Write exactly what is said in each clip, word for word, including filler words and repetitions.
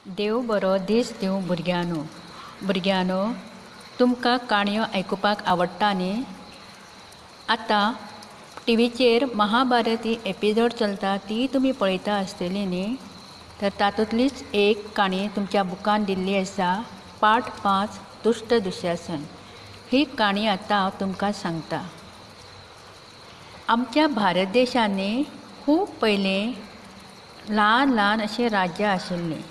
देव बरो दीस दिवं भुरग्यांनो. भुरग्यांनो, तुमकां काणयो आयकुपाक आवडटा न्ही? आतां टिवीचेर महाभारत ही एपिसोड चलता ती तुमी पळयता आसतली न्ही? तर तातूंतलीच एक काणी तुमच्या बुकान दिल्ली आसा, पाठ पांच, दुश्ट दुशासन. ही काणी आतां हांव तुमकां सांगता. आमच्या भारत देशांनी खूब पयलीं ल्हान ल्हान अशीं राज्यां आशिल्लीं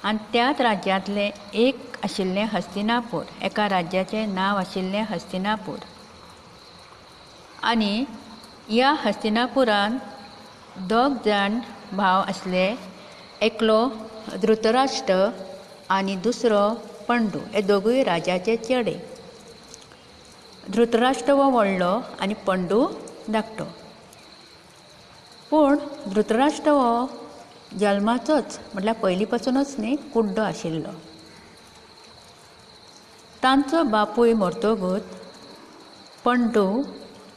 आनी त्याच राज्यांतलें एक आशिल्लें हस्तिनापूर. एका राज्याचें नांव आशिल्लें हस्तिनापूर. आनी ह्या हस्तिनापुरान दोग जाण भाव आसले, एकलो धृतराष्ट्र आनी दुसरो पंडू. हे दोगूय राजाचे चेडे. धृतराष्ट्र हो व्हडलो आनी पंडू धाकटो. पूण धृतराष्ट्र हो जल्माचोच, म्हटल्यार पयलीं पासुनूच न्ही, कुड्डो आशिल्लो. तांचो बापूय मरतकूच पंडू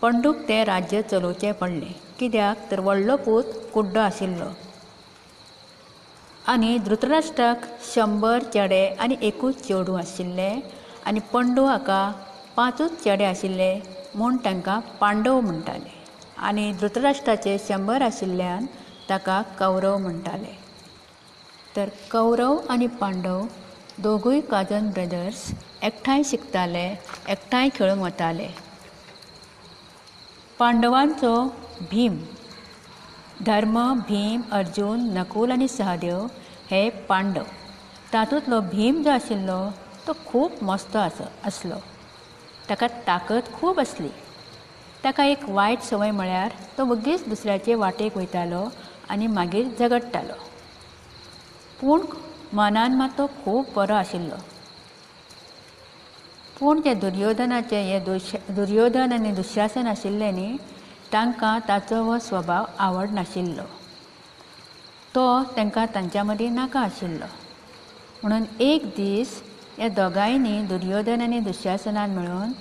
पंडूक तें राज्य चलोवचें पडलें. कित्याक तर व्हडलो पूत कुड्डो आशिल्लो. आनी धृतराष्ट्राक शंबर चेडे आनी एकूच चेडूं आशिल्लें आनी पंडू हाका पांचूच चेडे आशिल्ले म्हूण तांकां पांडव म्हणटाले. आनी धृतराष्ट्राचे शंबर आशिल्ल्यान ताका कौरव म्हणटाले. तर कौरव आनी पांडव दोगूय काजन ब्रदर्स एकठांय शिकताले, एकठांय खेळूंक वताले. पांडवांचो भीम, धर्म, भीम, अर्जुन, नकुल आनी सहदेव हे पांडव. तातूंतलो भीम जो आशिल्लो तो खूब मस्तो आसलो. ताका ताकद खूब आसली. ताका एक वायट संवय म्हळ्यार तो वगीच दुसऱ्याचे वाटेक वयतालो आनी मागीर झगडटालो. पूण मनान मात तो खूब बरो आशिल्लो. पूण जे दुर्योधनाचे हे दुश दुर्योधन आनी दुशासन आशिल्ले न्ही, तांकां ताचो हो स्वभाव आवडनाशिल्लो. तो तांकां तांच्या मदीं नाका आशिल्लो. म्हणून एक दीस ह्या दोगांयनी, दुर्योधन आनी दुशासनान मेळून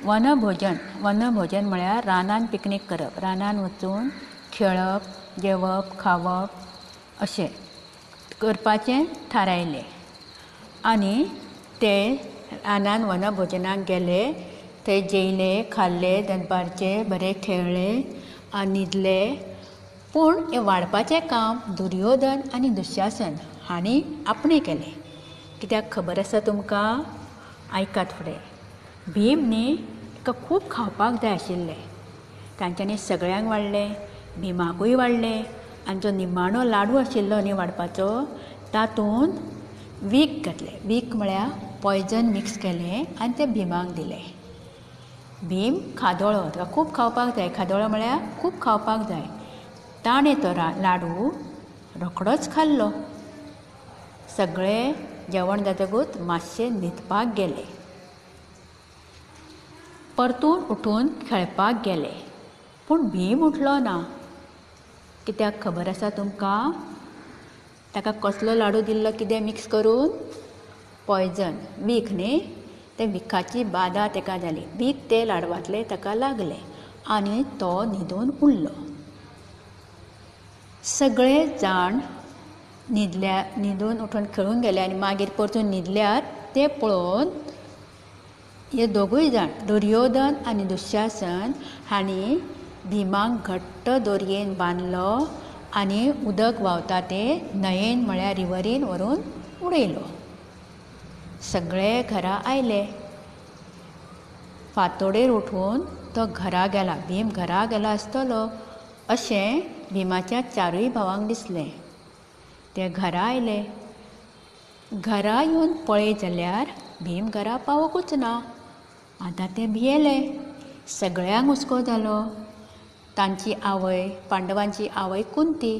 वनभोजन, वनभोजन म्हळ्यार रानान पिकनीक करप, रानान वचून खेळप, जेवप, खावप अशें करपाचें थारायलें. आनी ते रानान वनभोजनाक गेले. थंय जेयले, खाल्ले, दनपारचे बरे खेळ्ळे आनी न्हिदले. पूण हें वाडपाचें काम दुर्योधन आनी दुशासन हांणी आपणें केलें. कित्याक खबर आसा तुमकां? आयकात फुडें. भीम न्ही ताका खूब खावपाक जाय आशिल्लें. तांच्यांनी सगळ्यांक वाडलें, भीमाकूय वाडलें. आनी जो निमाणो लाडू आशिल्लो न्ही वाडपाचो, तातूंत वीख घातलें. वीख म्हळ्यार पॉयजन मिक्स केलें आनी तें भीमाक दिलें. भीम खादोळो, ताका खूब खावपाक जाय. खादोळो म्हळ्यार खूब खावपाक जाय. ताणें तो लाडू रोखडोच खाल्लो. सगळे जेवण जातकूच मातशें न्हिदपाक गेले. परतून उठून खेळपाक गेले. पूण भीम उठलो ना. कित्याक खबर आसा तुमकां? ताका कसलो लाडू दिल्लो कितें मिक्स करून? पॉयजन, वीख न्ही. ते विखाची बादा ताका जाली. वीख ते लाडवांतलें ताका लागलें आनी तो न्हिदून उरलो. सगळे जाण न्हिदल्या, न्हिदून उठून खेळूंक गेले आनी मागीर परतून न्हिदल्यार ते पळोवन हे दोगूय जाण, दुर्योधन आनी दुशासन हांणी भीमाक घट्ट दोरयेन बांदलो आनी उदक व्हांवता ते न्हंयेन म्हळ्यार रिवरीन व्हरून उडयलो. सगळे घरा आयले. फांतोडेर उठून तो घरा गेला, भीम घरा गेला आसतलो अशें भीमाच्या चारूय भावांक दिसलें. ते घरा आयले. घरा येवन पळय जाल्यार भीम घरा पावकूच ना. आतां ते भियेले. सगळ्यांक हुस्को जालो. तांची आवय, पांडवांची आवय कुंती,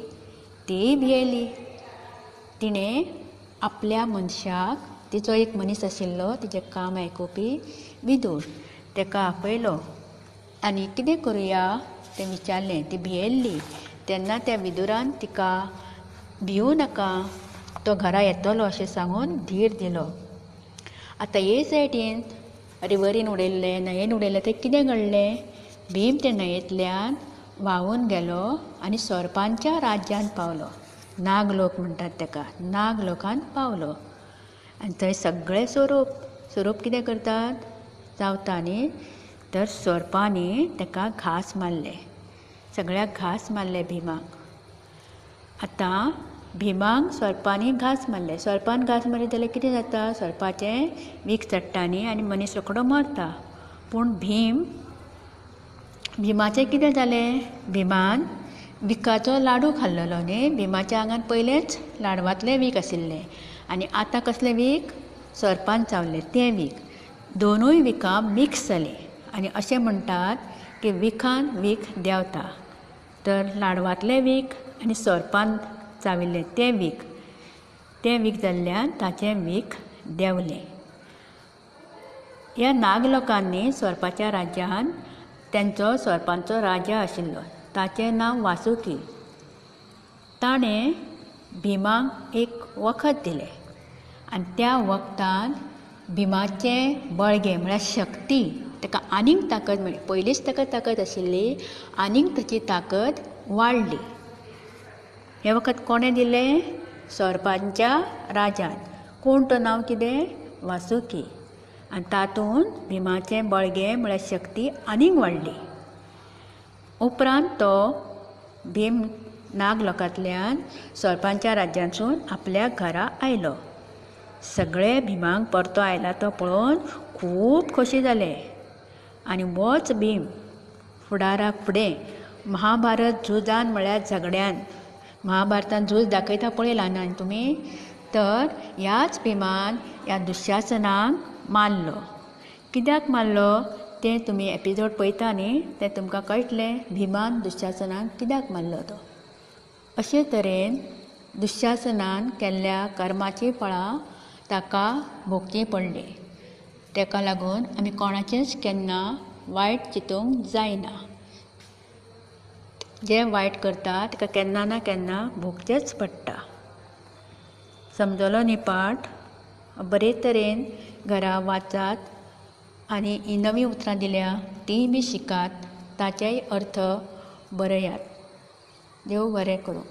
तीय भियेली. तिणें आपल्या मनशाक, तिचो एक मनीस आशिल्लो तिचें काम आयकुपी, विदूर, ताका आपयलो आनी कितें करुया तें विचारलें. ती भियेल्ली. तेन्ना त्या विदुरान तिका भिवूं नाका, तो घरा येतलो अशें सांगून धीर दिलो. आतां हे सायडीन रिवरीन उडयल्लें, न्हंयेन उडयल्लें, तें कितें घडलें? भीम ते न्हंयेंतल्यान व्हांवून गेलो आनी सोरपांच्या राज्यांत पावलो. नागलोक म्हणटात ताका, नागलोकांत पावलो. आनी थंय सगळे सोरोप, सोरोप कितें करतात, चावता न्ही, तर सोरपांनी ताका घांस मारले, सगळ्याक घांस मारले भीमाक. आतां भीमाक सोरपांनी घांस मारले. सोरपान घांस मारले जाल्यार कितें जाता, सोरपाचें वीख चडटा न्ही आनी मनीस रोखडो मरता. पूण भीम भीमाचें कितें जालें, भीमान विखाचो लाडू खाल्लेलो न्ही, भीमाच्या आंगान पयलेंच लाडवांतलें वीख आशिल्लें आनी आतां कसलें वीख, सोरपान चावलें तें वीख. दोनूय विखां मिक्स जालीं आनी अशें म्हणटात की विखान वीख देंवता. तर लाडवांतलें वीख आनी सोरपान चाविल्लें तें वीख, तें वीख जाल्ल्यान ताचें वीख देंवलें. ह्या नागलोकांनी सोरपाच्या राज्यान तांचो सोरपांचो राजा आशिल्लो, ताचें नांव वासुकी. ताणें भीमाक एक वखद दिलें आनी त्या वखदान भीमाचें बळगें म्हळ्यार शक्ती, ताका आनीक ताकद मेळ्ळी. पयलींच ताका ताकद आशिल्ली, आनीक ताची ताकद वाडली. हें वखद कोणें दिलें, सोरपांच्या राजान. कोण तो, नांव कितें, वासुकी. आनी तातूंत भीमाचें बळगें म्हळ्यार शक्ती आनीक वाडली. उपरांत तो भीम नागलोकांतल्यान सोरपांच्या राज्यांतसून आपल्या घरा आयलो. सगळे भीमाक परतो आयला तो पळोवन खूब खोशी जाले. आनी होच भीम फुडाराक फुडें महाभारत झुजान म्हळ्यार झगड्यान, महाभारतान झूज दाखयता पळय ल्हान तुमी, तर ह्याच भीमान ह्या दुशासनाक मारलो. कित्याक मारलो तें तुमी एपिसोड पळयता न्ही, तें तुमकां कळटलें भीमान दुशासनाक कित्याक मारलो तो. अशे तरेन दुशासनान केल्ल्या कर्माचीं फळां ताका भोगचीं पडलीं. ताका लागून आमी कोणाचेंच केन्ना वायट चिंतूंक जायना. जें वायट करता ताका केन्ना ना केन्ना भोगचेंच पडटा. समजलो न्ही पाठ? बरे तरेन घरा वाचात आनी हीं नवीं उतरां दिल्या तींय बी शिकात, ताचेय अर्थ बरयात. देव बरें करूं.